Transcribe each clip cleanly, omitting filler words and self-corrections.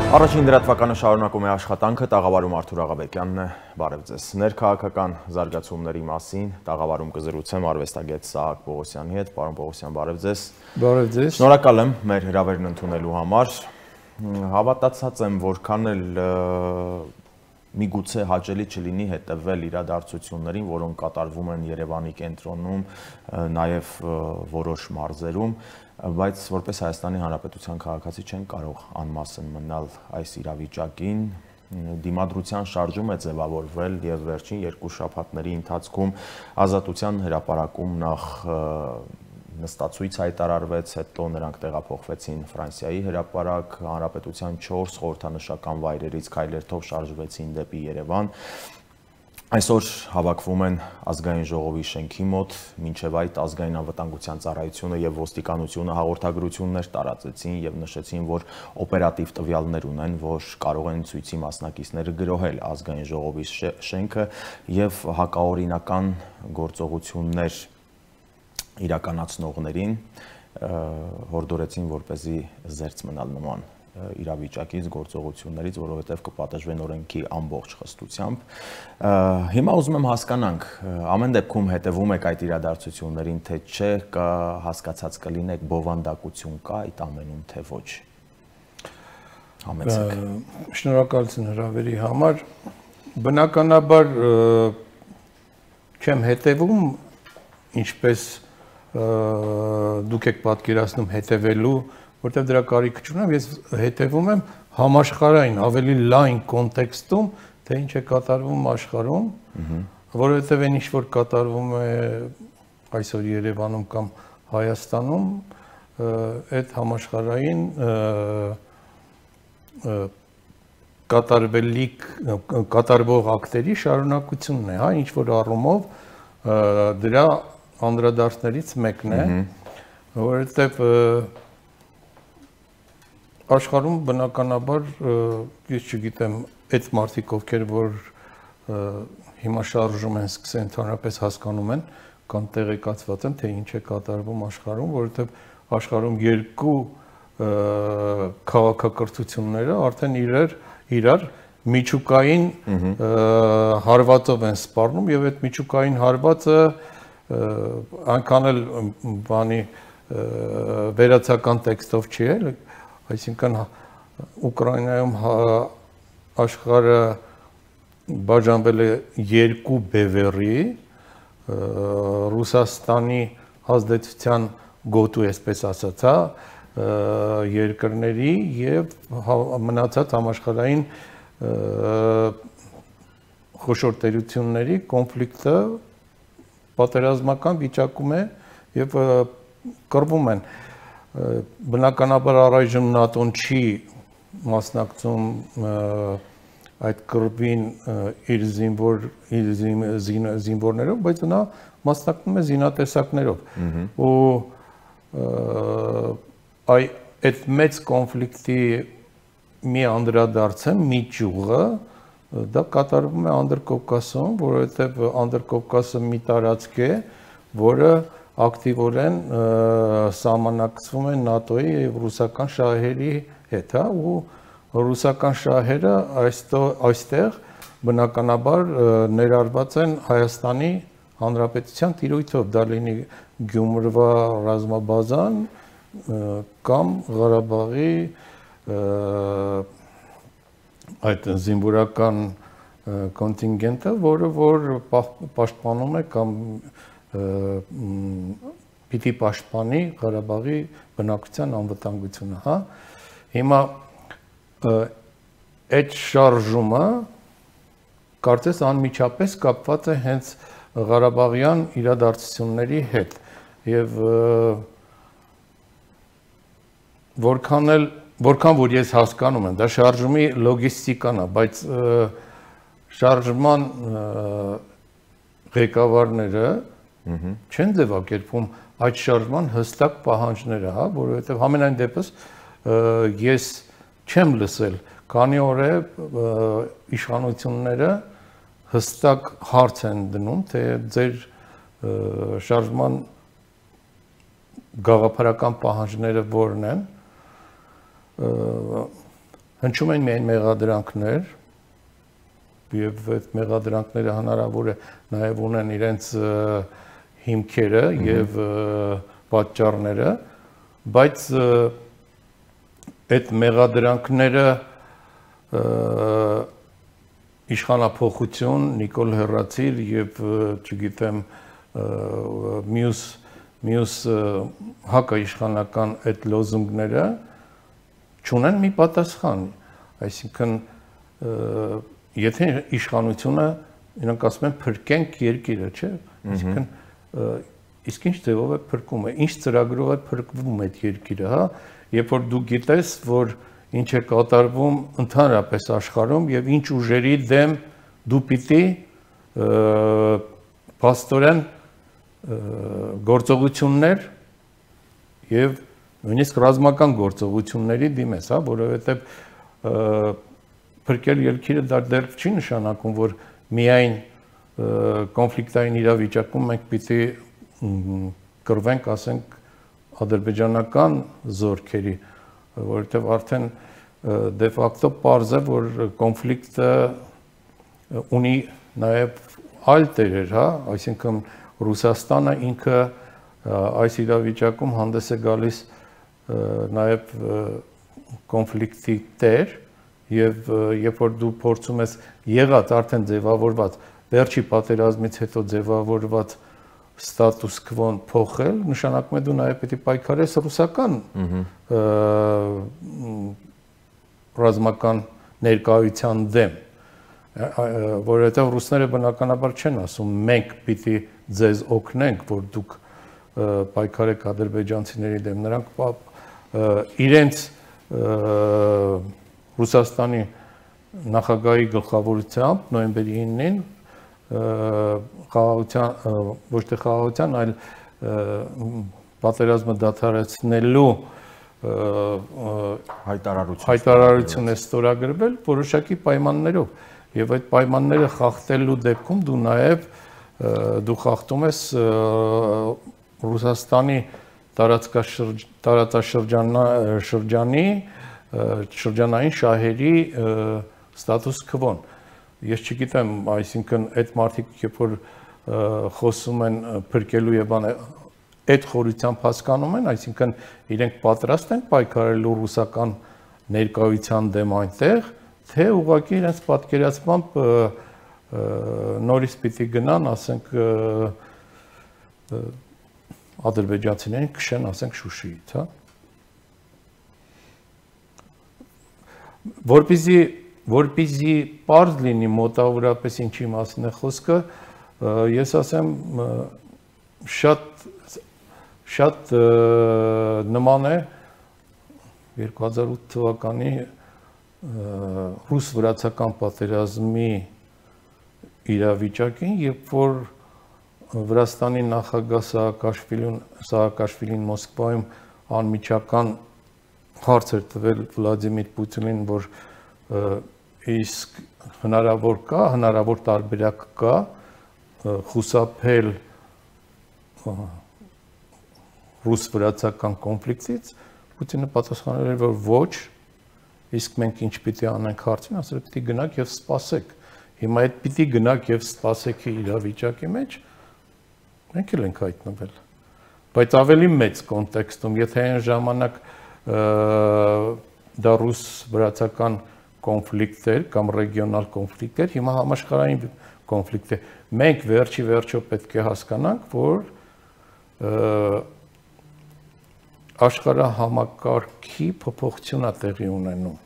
Առաջին դրատվականը շարունակում է աշխատանքը, տաղավարում Արթուր Աղաբեկյանն է, բարև ձեզ։ Ներքաղաքական զարգացումների մասին տաղավարում կզրուցեմ արվեստագետ Սահակ Պողոսյանի հետ, պարոն Պողոսյան, բարև ձեզ։ Բարև ձեզ։ Շնորհակալ եմ մեր հրավերն ընդունելու համար։ Հավատացած եմ, որքան էլ միգուցե հաճելի չլինի հետևել իրադարձություններին, որոնք կատարվում են Երևանի կենտրոնում, նաև որոշ մարզերում, բայց որպես Հայաստանի Հանրապետության քաղաքացի չեն կարող անմասն մնալ այս իրավիճակին։ Դիմադրության շարժում է ձևավորվել եւ վերջին երկու շաբաթների ընթացքում Ազատության հրապարակում նախ նստածույց հայտարարվեց, հետո նրանք տեղափոխվեցին Ֆրանսիայի հրապարակ, Հանրապետության 4 խորհրդանշական վայրերից քայլերթով շարժվեցին դեպի Երևան։ Այսօր հավաքվում են ազգային ժողովի շենքի մոտ, մինչև այդ ազգային անվտանգության ծառայությունը եւ ոստիկանությունը հաղորդագրություններ տարածեցին եւ նշեցին, որ օպերատիվ տվյալներ ունեն, որ կարող են ցույցի մասնակիցները գրոհել ազգային ժողովի շենքը եւ հակաօրինական գործողություններ իրականացնողներին հորդորեցին, որպեսզի զերծ մնալ նման իրավիճակից, գործողություններից, որովհետև կպատժվեն օրենքի ամբողջ խստությամբ։ Հիմա ուզում եմ հասկանանք, ամեն դեպքում հետևում եք այդ իրադարձություններին, թե չէ, հասկացած կլինեք, բովանդակություն կա այդ ամենում, թե ոչ։ Համեցեք։ Շնորհակալություն հրավերի համար։ Բնականաբար չեմ հետևում, ինչպես դուք եք պատկերացնում հետևելու, որտեղ դրա կարիք չունեմ, ես հետևում եմ համաշխարհային, ավելի լայն կոնտեքստում, թե ինչ է կատարվում աշխարհում, որովհետև այն ինչ որ կատարվում է այսօր Երևանում կամ Հայաստանում, այդ համաշխարհային կատարվող ակտերի շարունակությունն է, հա, ինչ որ առումով դրա անդրադարձներից մեկն է, որովհետև աշխարհում բնականաբար ես չգիտեմ այդ մարդիկ ովքեր որ հիմա շարժում են սկսել ընդհանրապես հասկանում են կամ տեղեկացված են թե ինչ է կատարվում աշխարհում, որովհետև աշխարհում երկու քաղաքակրթությունները արդեն իրար միջուկային հարվածով են սպառնում եւ այդ միջուկային հարվածը այնքան էլ բանի վերացական տեքստով չի էլ, այսինքն Ուկրաինայում աշխարհը բաժանվել է երկու բևեռի, Ռուսաստանի ազդեցության գոտու, այսպես ասած, երկրների եւ մնացած համաշխարհային խոշոր տերությունների կոնֆլիկտը պատերազմական վիճակում է եւ կռվում են։ Բնականաբար առայժմ ՆԱՏՕ-ն չի մասնակցում այդ կռվին իր զինվորներով, բայց նա մասնակցում է զինատեսակներով։ Ու այդ մեծ կոնֆլիկտի մի անդրադարձը, մի ճյուղը դա կատարվում է Անդրկովկասում, որովհետև Անդրկովկասը մի տարածք է, որը ակտիվորեն սահմանակցվում է ՆԱՏՕ-ի եւ ռուսական շահերի հետ, հա, ու ռուսական շահերը այստեղ բնականաբար ներառված են Հայաստանի Հանրապետության տիրույթով, դա լինի Գյումրվա ռազմաբազան կամ Ղարաբաղի այդ զինվորական կոնտինգենտը, որը որ պաշտպանում է կամ պիտի պաշտպանի Ղարաբաղի բնակչության անվտանգությունը, հա։ Հիմա այդ շարժումը կարծես անմիջապես կապված է հենց Ղարաբաղյան իրադարձությունների հետ եւ որքան որ ես հասկանում եմ, դա շարժումի լոգիստիկան է, բայց շարժման ղեկավարները չեն ձևակերպում այդ շարժման հստակ պահանջները, հա, որովհետև համենայն դեպս ես չեմ լսել, քանի օր է իշխանությունները հստակ հարց են դնում, թե ձեր շարժման գաղափարական պահանջները որն են, հնչում են միայն մեղադրանքներ, եւ այդ մեղադրանքները հնարավոր է նաեւ ունեն իրենց հիմքերը եւ պատճառները, բայց այդ մեղադրանքները իշխանափոխություն, Նիկոլ Հեռացիր եւ չգիտեմ մյուս հակաիշխանական այդ լոզունգները չունեն մի պատասխան, այսինքն եթե իշխանությունը իրանք ասում են փրկենք երկիրը, չէ՞, այսինքն իսկ ինչ ձևով է փրկում է, ինչ ծրագրով է փրկվում այդ երկիրը, հա, երբ որ դու գիտես, որ ինչ է կատարվում ընդհանրապես աշխարհում եւ ինչ ուժերի դեմ դու պիտի փաստորեն գործողություններ եւ նույնիսկ ռազմական գործողությունների դիմես, հա, որովհետեւ փրկել երկիրը դա դեռ չի նշանակում, որ միայն կոնֆլիկտային իրավիճակում մենք պիտի կռվենք, ասենք, ադրբեջանական զորքերի, որովհետև արդեն դե ֆակտո պարզ է, որ կոնֆլիկտը ունի նաև այլ տերեր, հա, այսինքն Ռուսաստանը ինքը այս իրավիճակում հանդես է գալիս նաև կոնֆլիկտի տեր եւ երբ որ դու փորձում ես եղած արդեն ձևավորված վերջի պատերազմից հետո ձևավորված ստատուս քվոն փոխել, նշանակում է դու նաև պետք է պայքարես ռուսական ռազմական ներկայության դեմ, որովհետև ռուսները բնականաբար չեն ասում մենք պիտի ձեզ օգնենք, որ դուք պայքարեք ադրբեջանցիների դեմ, նրանք իրենց Ռուսաստանի նախագահի գլխավորությամբ նոյեմբերի 9-ին խաղաղության, ոչ թե խաղաղության, այլ պատերազմը դադարեցնելու հայտարարություն է ստորագրվել որոշակի պայմաններով եւ այդ պայմանները խախտելու դեպքում դու նաեւ դու խախտում ես Ռուսաստանի տարածաշրջանի շրջանային շահերի ստատուս քվոն։ Ես չգիտեմ, այսինքն այդ մարդիկ, երբ որ խոսում են փրկելու եւ այդ խորությամբ հասկանում են, այսինքն իրենք պատրաստ են պայքարելու ռուսական ներկայության դեմ այնտեղ, թե ուղղակի իրենց պատկերացմամբ նորից պիտի գնան, ասենք ադրբեջանցիներին քշեն, ասենք Շուշիից, հա։ Որպեսզի պարզ լինի մոտավորապես ինչի մասին է խոսքը, ես ասեմ շատ նման է 2008 թվականի ռուս-վրացական պատերազմի իրավիճակին, երբ որ Վրաստանի նախագահ Սահակաշվիլին Մոսկվայում անմիջական հարց էր տվել Վլադիմիր Պուտինին, որ իսկ հնարավոր տարբերակ կա խուսափել ռուս-վրացական կոնֆլիկտից, Պուտինը պատասխանել էր, որ ոչ, իսկ մենք ինչ պիտի անենք հարցին, ասել պիտի գնաք եւ սպասեք։ Հիմա այդ պիտի գնաք եւ սպասեքի իրավիճակի մեջ մենք էլ ենք հայտնվել։ Բայց ավելի մեծ կոնտեքստում, եթե այն ժամանակ դա ռուս-վրացական կոնֆլիկտ էր կամ ռեգիոնալ կոնֆլիկտ էր, հիմա համաշխարհային կոնֆլիկտ է։ Մենք վերջո պետք է հասկանանք, որ աշխարհահամակարգի փոփոխություն է տեղի ունենում,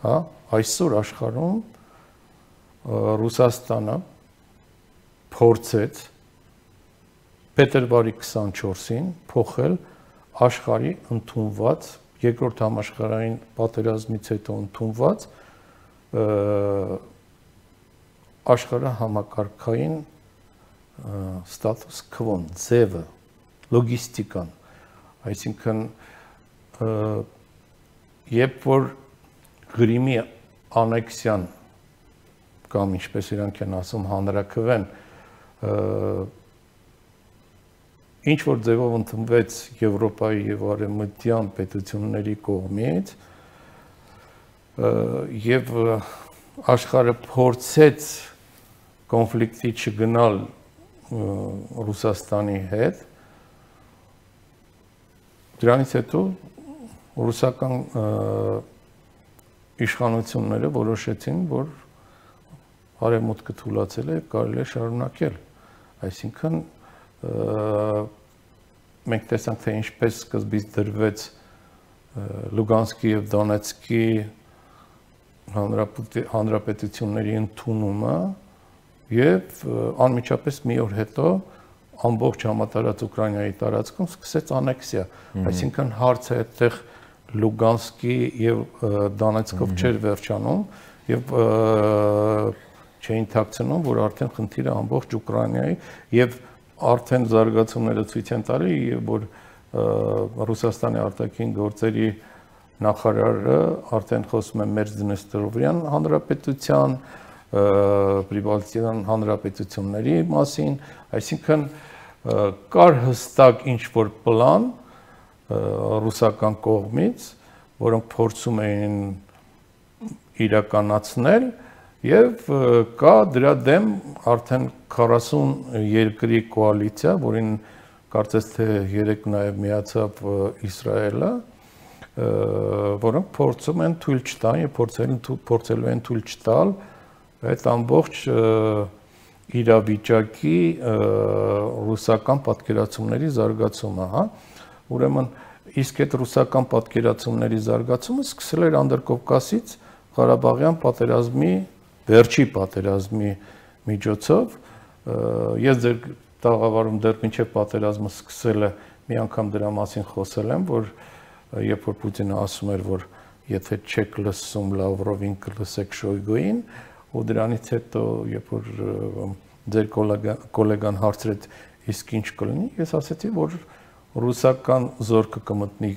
հա, այսօր աշխարհում Ռուսաստանը փորձեց փետրվարի 24-ին փոխել աշխարհի ընդունված երկրորդ համաշխարհային պատերազմից հետո ընդունված աշխարհահամակարգային ստատուս քվոն, ձևը, լոգիստիկան, այսինքն երբ որ Գրիմի անեքսիան կամ ինչպես իրանք են ասում հանրաքվեն ինչ որ ձևով ընդունվեց Եվրոպայի եւ արևմտյան պետությունների կողմից եւ աշխարհը փորձեց կոնֆլիկտի չգնալ Ռուսաստանի հետ, դրանից հետո ռուսական իշխանությունները որոշեցին, որ արևմուտքը թուլացել է եւ կարելի է շարունակել։ Այսինքն մենք տեսանք, թե ինչպես սկզբից դրվեց Լուգանսկի եւ Դոնեցկի հանրապետությունների ընդունումը եւ անմիջապես մի օր հետո ամբողջ համատարած Ուկրաինայի տարածքում սկսեց անեքսիա, այսինքն հարցը այդտեղ Լուգանսկի եւ Դոնեցկով չէր վերջանում եւ չէին թաքցնում, որ արդեն խնդիրը ամբողջ Ուկրաինայի եւ արդեն զարգացումները ցույց են տալի, որ Ռուսաստանի արտաքին գործերի նախարարը արդեն խոսում է Մերձդնեստրովյան հանրապետության, Պրիբալտյան հանրապետությունների մասին, այսինքն կար հստակ ինչ-որ պլան ռուսական կողմից, որոնք փորձում էին իրականացնել եւ կա դրա դեմ արդեն 40 երկրի կոալիցիա, որին կարծես թե 3 նաեւ միացավ Իսրայելը, որոնք փորձում են թույլ չտալ եւ փորձելու են թույլ չտալ այդ ամբողջ իրավիճակի ռուսական պատկերացումների զարգացումը, հա։ Ուրեմն իսկ այդ ռուսական պատկերացումների զարգացումը սկսել էր Անդրկովկասից Ղարաբաղյան պատերազմի վերջի պատերազմի միջոցով։ Ես ձեր տաղավարում դեռ մինչև պատերազմը սկսելը մի անգամ դրա մասին խոսել եմ, որ երբ որ Պուտինը ասում էր, որ եթե չեք լսում Լավրովին, կլսեք Շոյգուին, ու դրանից հետո երբ որ ձեր գոլեգան հարցրեց իսկ ինչ կլինի, ես ասացի, որ ռուսական զորքը կմտնի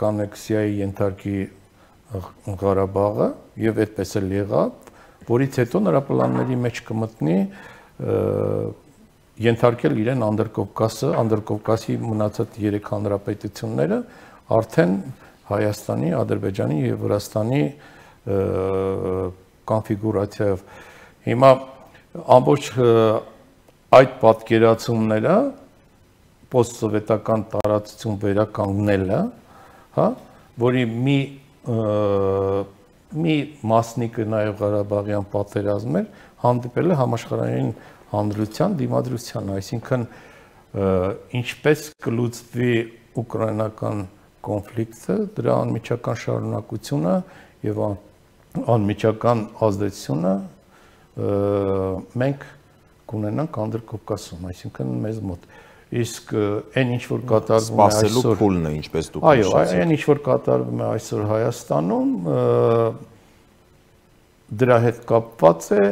կանեքսիայի ենթարկի Ղարաբաղը եւ այդպես էլ եղավ, որից հետո նրա պլանների մեջ կմտնի ենթարկել իրեն Անդրկովկասը, Անդրկովկասի մնացած 3 հանրապետությունները արդեն Հայաստանի, Ադրբեջանի եւ Վրաստանի կոնֆիգուրացիայով։ Հիմա ամբողջ այդ պատկերացումները post-սովետական տարածություն վերականգնելը, հա, որի մի մասնիկը նաեւ Ղարաբաղյան պատերազմ էր, հանդիպել է համաշխարհային հանրության դիմադրության, այսինքն ինչպես կլուծվի ուկրաինական կոնֆլիկտը, դրա անմիջական շարունակությունը եւ անմիջական ազդեցությունը մենք կունենանք Անդրկովկասում, այսինքն մեզ մոտ։ Իսկ այն ինչ որ կատարվում է այսօր, սպասելու փուլն է, ինչպես դուք նշեցիք։ Այո, այն ինչ որ կատարվում է այսօր Հայաստանում, դրա հետ կապված է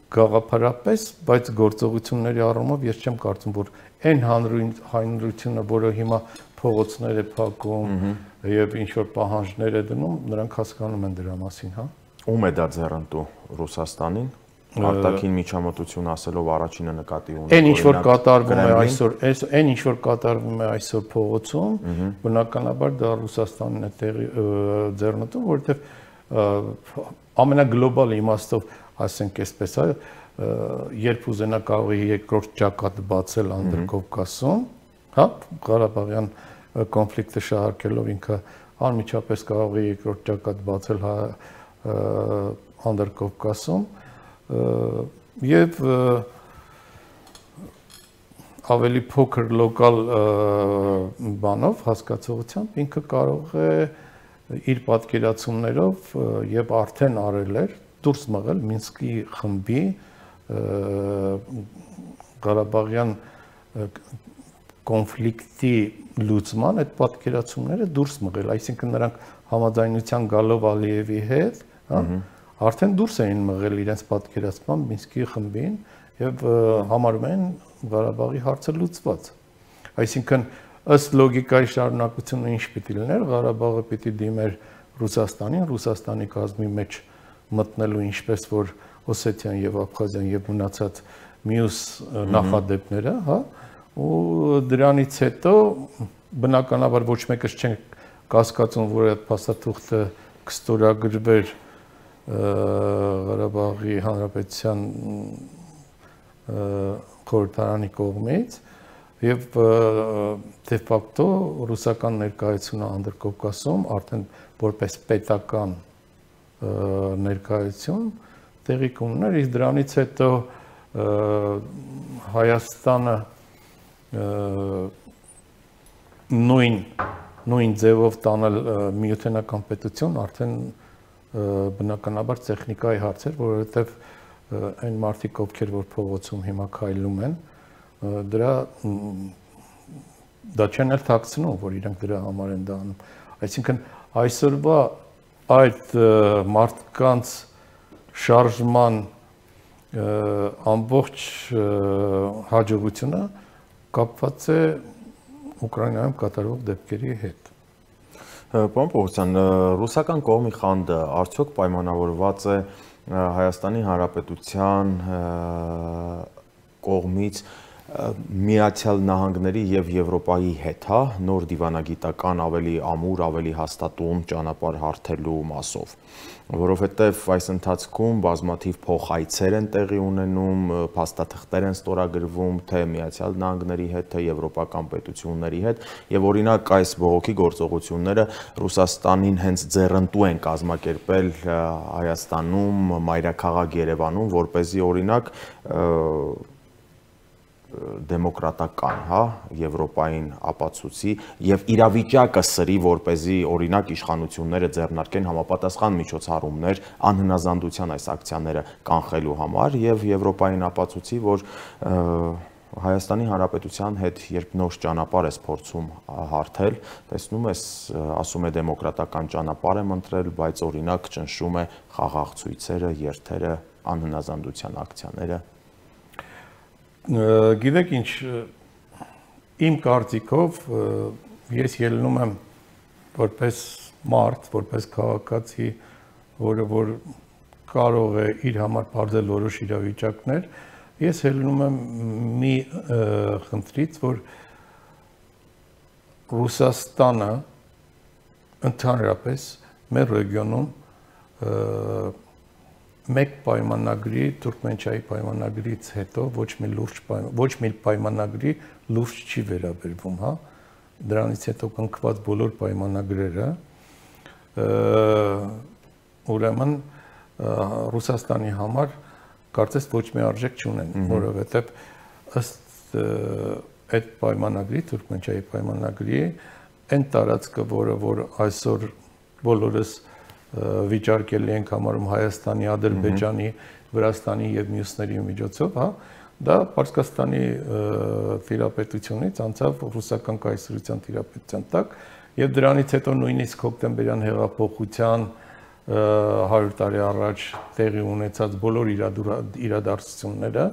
գաղափարապես, բայց գործողությունների առումով ես չեմ կարծում, որ այն հանրությունը, որը հիմա փողոցներ է փակում եւ ինչ որ պահանջներ է դնում, նրանք հասկանում են դրա մասին, հա։ Ում է դա ձեռնտու Ռուսաստանին, արտաքին միջամտություն ասելով առաջինը նկատի ունի։ Այն ինչ որ կատարվում է այսօր, այն ինչ որ կատարվում է այսօր փողոցում, բնականաբար դա Ռուսաստանն է ձեռնտու, որովհետեւ ամենագլոբալ իմաստով, ասենք այսպես, երբ ուզենա կարող է երկրորդ ճակատ բացել Անդրկովկասում, հա, Ղարաբաղյան կոնֆլիկտը շահարկելով ինքը անմիջապես կարող է երկրորդ ճակատ բացել Անդրկովկասում եւ ավելի փոքր լոկալ բանով հասկացողությամբ ինքը կարող է իր պատկերացումներով եւ արդեն արել էր դուրս մղել Մինսկի խմբի Ղարաբաղյան կոնֆլիկտի լուծման այդ պատկերացումները դուրս մղել, այսինքն նրանք համաձայնության գալով Ալիևի հետ, հա, արդեն դուրս էին մղել իրենց պատկերացման Մինսկի խմբին եւ համարում են Ղարաբաղի հարցը լուծված։ Այսինքն ըստ լոգիկայի շարունակությունը ինչ պիտի լիներ, Ղարաբաղը պիտի դիմեր Ռուսաստանին, Ռուսաստանի կազմի մեջ մտնելու ինչպես որ Օսեթիան եւ Աբխազիան եւ մնացած մյուս նախադեպները, հա, ու դրանից հետո բնականաբար ոչ մեկս չեն կասկածում, որ այդ փաստաթուղթը կստորագրվեր Ղարաբաղի Հանրապետության խորհրդարանի կողմից եւ de facto ռուսական ներկայությունը Անդրկովկասում արդեն որպես պետական ներկայություն տեղի կունենար, իսկ դրանից հետո Հայաստանը նույն ձևով տանել միութենական պետություն արդեն բնականաբար տեխնիկայի հարց էր, որովհետև այն մարդիկ, ովքեր որ փողոցում հիմա քայլում են, դա չեն էլ թաքցնում, որ իրենք դրա համար են դա անում։ Այսինքն այսօրվա այդ մարդկանց շարժման ամբողջ հաջողությունը կապված է Ուկրաինայում կատարվող դեպքերի հետ։ Պարոն Պողոսյան, ռուսական կողմի խանդը արդյոք պայմանավորված է Հայաստանի Հանրապետության կողմից Միացյալ Նահանգների եւ Եվրոպայի հետ, հա, նոր դիվանագիտական ավելի ամուր, ավելի հաստատուն ճանապարհ հարթելու մասով, որովհետեւ այս ընթացքում բազմաթիվ փոխայցեր են տեղի ունենում, փաստաթղթեր են ստորագրվում թե Միացյալ Նահանգների հետ, թե եվրոպական պետությունների հետ, եւ օրինակ այս բողոքի գործողությունները Ռուսաստանին հենց ձեռնտու են կազմակերպել Հայաստանում, մայրաքաղաք Երևանում, որպեսզի օրինակ դեմոկրատական, հա, Եվրոպային ապացուցի եւ իրավիճակը սրի, որպեսզի օրինակ իշխանությունները ձեռնարկեն համապատասխան միջոցառումներ անհնազանդության այս ակցիաները կանխելու համար եւ Եվրոպային ապացուցի, որ Հայաստանի Հանրապետության հետ երբ նոր ճանապարհ է փորձում հարթել, տեսնում ես, ասում է դեմոկրատական ճանապարհ եմ ընտրել, բայց օրինակ ճնշում է խաղաղ ցույցերը, երթերը, անհնազանդության ակցիաները։ Գիտեք ինչ, իմ կարծիքով ես ելնում եմ որպես մարդ, որպես քաղաքացի, որը որ կարող է իր համար բարձել որոշ իրավիճակներ, ես ելնում եմ մի խնդրից, որ Ռուսաստանը ընդհանրապես մեր ռեգիոնում մեկ պայմանագրի, Թուրքմենչայի պայմանագրից հետո ոչ մի պայմանագրի լուրջ չի վերաբերվում, հա, դրանից հետո կնքված բոլոր պայմանագրերը, ուրեմն Ռուսաստանի համար կարծես ոչ մի արժեք չունեն, որովհետև ըստ այդ պայմանագրի, Թուրքմենչայի պայմանագրի, այն տարածքը, որ այսօր բոլորս վիճարկելի ենք համարում Հայաստանի, Ադրբեջանի, Վրաստանի եւ մյուսների միջոցով, հա, դա Պարսկաստանի տիրապետությունից անցավ ռուսական կայսրության տիրապետության տակ եւ դրանից հետո նույնիսկ հոկտեմբերյան հեղափոխության 100 տարի առաջ տեղի ունեցած բոլոր իրադարձությունները,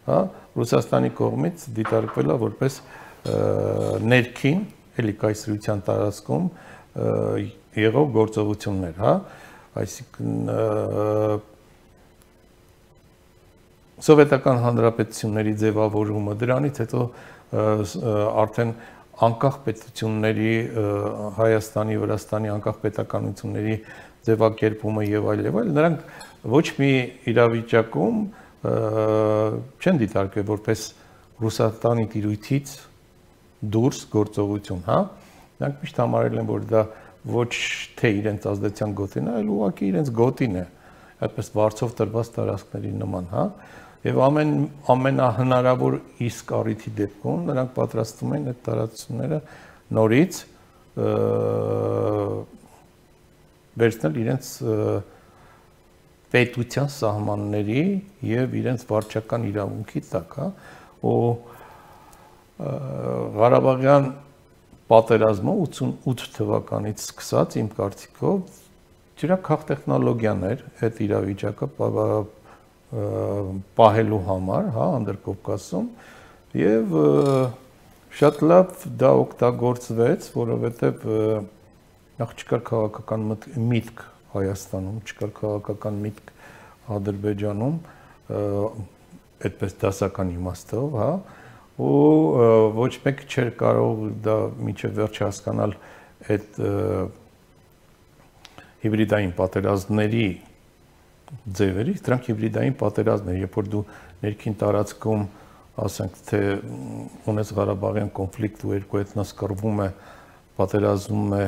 հա, Ռուսաստանի կողմից դիտարկվել է որպես ներքին, էլի կայսրության տարածքում եղող գործողություններ, հա, այսինքն սովետական հանրապետությունների ձևավորումը, դրանից հետո արդեն անկախ պետությունների, Հայաստանի, Վրաստանի անկախ պետականությունների ձևակերպումը եւ այլ, նրանք ոչ մի իրավիճակում չեն դիտարկվել որպես Ռուսաստանի տիրույթից դուրս գործողություն, հա, նրանք միշտ համարել են, որ դա ոչ թե իրենց ազդեցության գոտին է, այլ ուղղակի իրենց գոտին է, այդպես վարձով տրված տարածքների նման, հա, եւ ամենահնարավոր իսկ առիթի դեպքում նրանք պատրաստվում են այդ տարածությունները նորից վերցնել իրենց պետության սահմանների եւ իրենց վարչական իրավունքի տակ, հա, ու Ղարաբաղյան պատերազմը 88 թվականից սկսած իմ կարծիքով դրա քաղտեխնոլոգիան էր այդ իրավիճակը պահելու համար, հա, Անդրկովկասում եւ շատ լավ դա օգտագործվեց, որովհետեւ նախ չկար քաղաքական միտք Հայաստանում, չկար քաղաքական միտք Ադրբեջանում, այդպես դասական իմաստով, հա, ու ոչ մեկ չէր կարող դա մինչև վերջ հասկանալ այդ հիբրիդային պատերազմների ձևերից, դրանք հիբրիդային պատերազմներ, երբ որ դու ներքին տարածքում, ասենք թե ունես Ղարաբաղյան կոնֆլիկտ ու երկու էթնոս կռվում է, պատերազմում է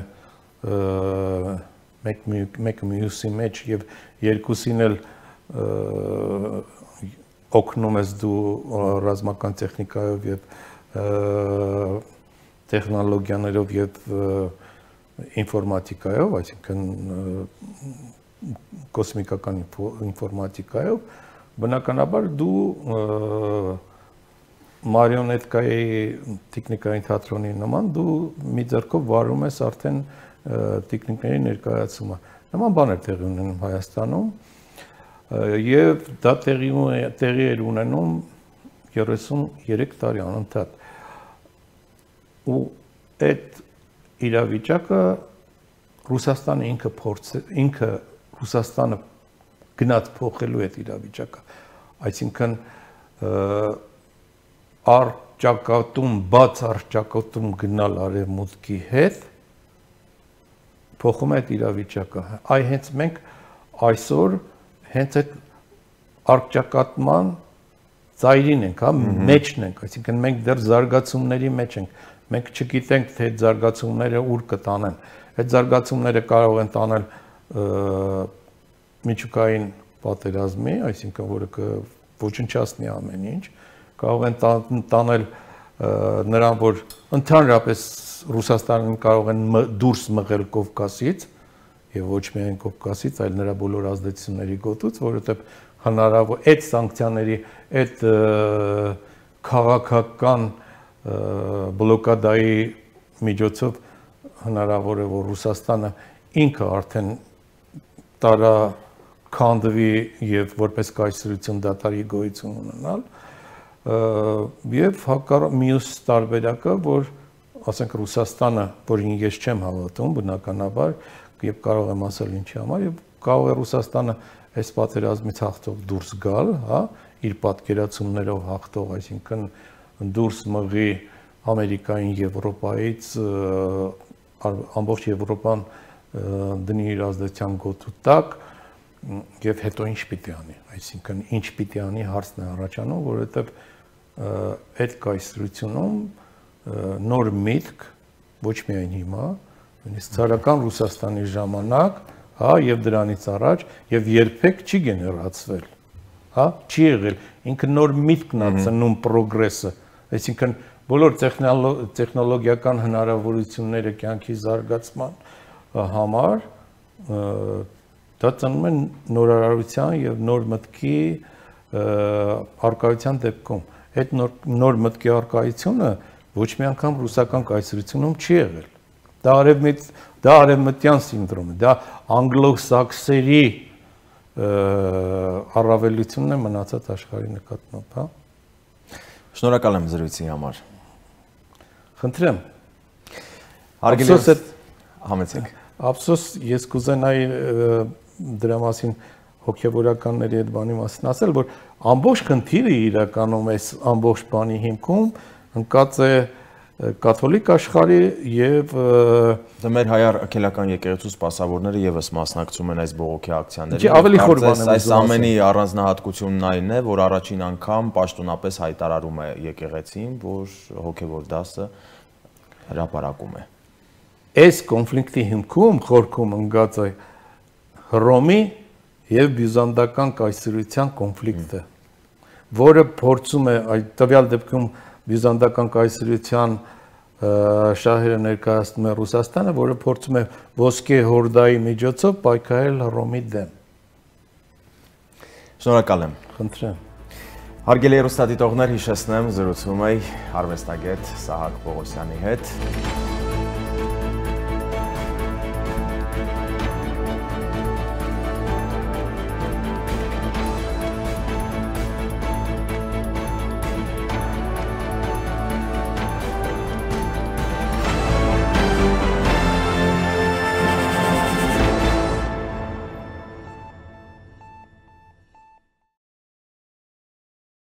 մեկ մյուսի մեջ եւ երկուսին էլ օգնում ես դու ռազմական տեխնիկայով եւ տեխնոլոգիաներով եւ ինֆորմատիկայով, այսինքն կոսմիկական ինֆորմատիկայով, բնականաբար դու մարիոնետկայի տեխնիկային թատրոնի նման դու մի ձեռքով վարում ես արդեն տեխնիկների ներկայացումը։ Նման բաներ տեղի ունենում Հայաստանում եւ դա տեղի էր ունենում 33 տարի անընդհատ։ Ու այդ իրավիճակը Ռուսաստանը ինքը Ռուսաստանը գնաց փոխելու այդ իրավիճակը, այսինքն առճակատում, բաց առճակատում գնալ արևմուտքի հետ փոխում է այդ իրավիճակը։ Այ հենց մենք այսօր հենց այդ առճակատման ծայրին ենք, հա, մեջն ենք, այսինքն մենք դեռ զարգացումների մեջ ենք։ Մենք չգիտենք, թե այդ զարգացումները ուր կտանեն։ Այդ զարգացումները կարող են տանել միջուկային պատերազմի, այսինքն որը կոչնչացնի ամեն ինչ, կարող են տանել նրան, որ ընդհանրապես Ռուսաստանին կարող են դուրս մղել Կովկասից եւ ոչ միայն Կովկասից, այլ նրա բոլոր ազդեցությունների գոտուց, որովհետեւ հնարավոր այդ սանկցիաների, այդ քաղաքական բլոկադայի միջոցով հնարավոր է, որ Ռուսաստանը ինքը արդեն տարաքանդվի եւ որպես կայսրություն դատարի գոյություն ունենալ եւ մյուս տարբերակը, որ ասենք Ռուսաստանը, որին ես չեմ հավատում բնականաբար եւ կարող եմ ասել ինչի համար, եւ կարող է Ռուսաստանը այս պատերազմից հաղթող դուրս գալ, հա, իր պատկերացումներով հաղթող, այսինքն դուրս մղի Ամերիկային, Եվրոպայից, ամբողջ Եվրոպան դնի իր ազդեցության գոտու տակ եւ հետո ինչ պիտի անի, այսինքն ինչ պիտի անի հարցն է առաջանում, որովհետեւ այդ կայսրությունում նոր միտք ոչ միայն հիմա, նույնիսկ ցարական Ռուսաստանի ժամանակ, հա, եւ դրանից առաջ եւ երբեք չի գեներացվել, հա, չի եղել, ինքը նոր միտքն է ծնում պրոգրեսը, այսինքն բոլոր տեխնոլոգիական հնարավորությունները կյանքի զարգացման համար դա ծնում է նորարարության եւ նոր մտքի արկայության դեպքում։ Այդ նոր մտքի արկայությունը ոչ մի անգամ ռուսական կայսրությունում չի եղել։ Դա արևմտյան սինդրոմ է, դա անգլոսաքսերի առավելությունն է մնացած աշխարհի նկատմամբ, հա։ Շնորհակալ եմ զրույցի համար։ Խնդրեմ։ Հարգելի համեցեք։ Ափսոս ես կուզենայի դրա մասին հոգևորականների այդ բանի մասին ասել, որ ամբողջ խնդիրը իրականում այս ամբողջ բանի հիմքում ընկած է կաթոլիկ աշխարհի եւ մեր հայ արգելական եկեղեցու սպասավորները եւս մասնակցում են այս բողոքի ակցիաներին։ Ավելի խոր բան եմ այս ամենի առանձնահատկությունն այն է, որ առաջին անգամ պաշտոնապես հայտարարում է եկեղեցին, որ հոգևոր դասը հրապարակում է։ Այս կոնֆլիկտի հիմքում խորքում ընկած է Հռոմի եւ բյուզանդական կայսրության կոնֆլիկտը, որը փորձում է այդ տվյալ դեպքում բյուզանդական կայսրության շահերը ներկայացնում է Ռուսաստանը, որը փորձում է ոսկե հորդայի միջոցով պայքարել Հռոմի դեմ։ Շնորհակալ եմ։ Խնդրեմ։ Հարգելի հեռուստադիտողներ, հիշեցնեմ, զրուցում էի արվեստագետ Սահակ Պողոսյանի հետ։